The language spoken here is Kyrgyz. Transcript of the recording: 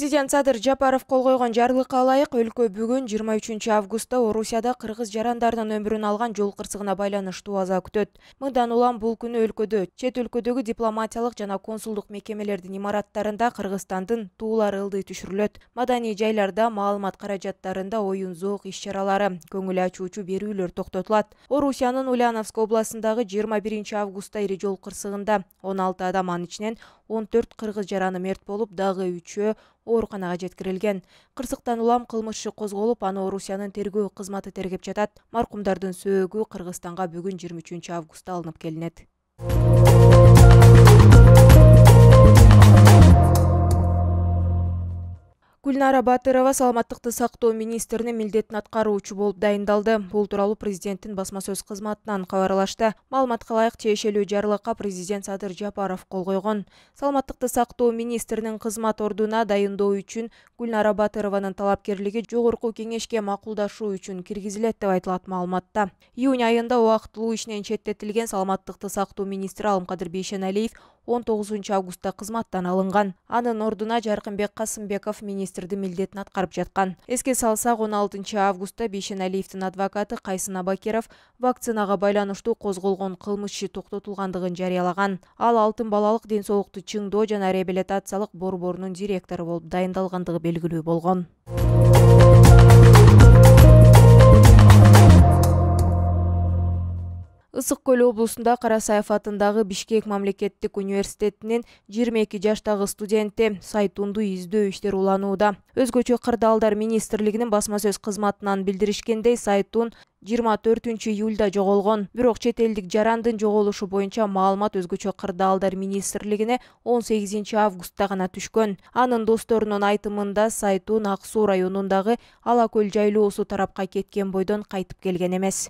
Президент Садыр Жапаров кол койгон жарлыкка ылайык өлкө бүгүн 23 августта Орусияда кыргыз жарандарынын өмүрүн алган жол кырсыгына байланыштуу аза күтөт. Мындан улам бул күнү өлкөдө, чет өлкөдөгү дипломатиялык жана консулдук мекемелердин имараттарында Кыргызстандын туулары ылдый түшүрүлөт. Маданий жайларда, маалымат каражаттарында оюн зоок иш-чаралары, көңүл ачуучу берүүлөр токтотулат. Орусиянын Ульяновск областындагы 21 августта ири жол кырсыгында 16 адам, анын ичинен 14 кыргыз жараны мерт болуп, дагы 3-өө ооруканага жеткирилген. Кырсыктан улам кылмыш иши козголуп, аны Орусиянын тергөө кызматы тергеп жатат. Маркумдардын сөөгү Кыргызстанга бүгүн 23 августта алынып келинет. Гүлнара Батырова саламаттыкты сактоо министринин милдетин аткаруучу болуп дайындалды. Бул тууралуу президенттин басма сөз кызматынан кабарлашты. Маалыматка ылайык, тиешелүү жарлыкка президент Садыр Жапаров кол койгон. Саламаттыкты сактоо министринин кызмат ордуна дайындоо үчүн Гүлнара Батырованын талапкерлиги жогорку кеңешке макулдашуу үчүн киргизилет деп айтылат маалыматта. Июнь айында убактылуу ишинен четтетилген саламаттыкты сактоо министри Алымкадыр Бейшеналиев 19 августта кызматтан алынган. Анын ордуна Жаркынбек Касымбеков министрдин милдетин аткарып жаткан. Эске салсак, 16 августта Бейшеналиевдин адвокаты Кайсын Абакиров вакцинага байланыштуу козголгон кылмыш иши токтотулгандыгын жарыялаган. Ал алтын балалык ден соолукту чыңдоо жана реабилитациялык борборунун директору болуп дайындалгандыгы белгилүү болгон. Ысык Көл облусунда Карасаев атындагы Бишкек мамлекеттик университетинин 22 жаштагы студенти Сайтунду издөө иштери уланууда. Өзгөчө кырдаалдар министрлигинин басма сөз кызматынан билдиришкендей, Сайтун 24 июлда жоголгон. Бирок чет элдик жарандын жоголушу боюнча маалымат өзгөчө кырдаалдар министрлигине 18 августта гана түшкөн. Анын досторунун айтымында, Сайтун Ак Суу районундагы Ала Көл жайлоосу тарапка кеткен бойдон кайтып келген эмес.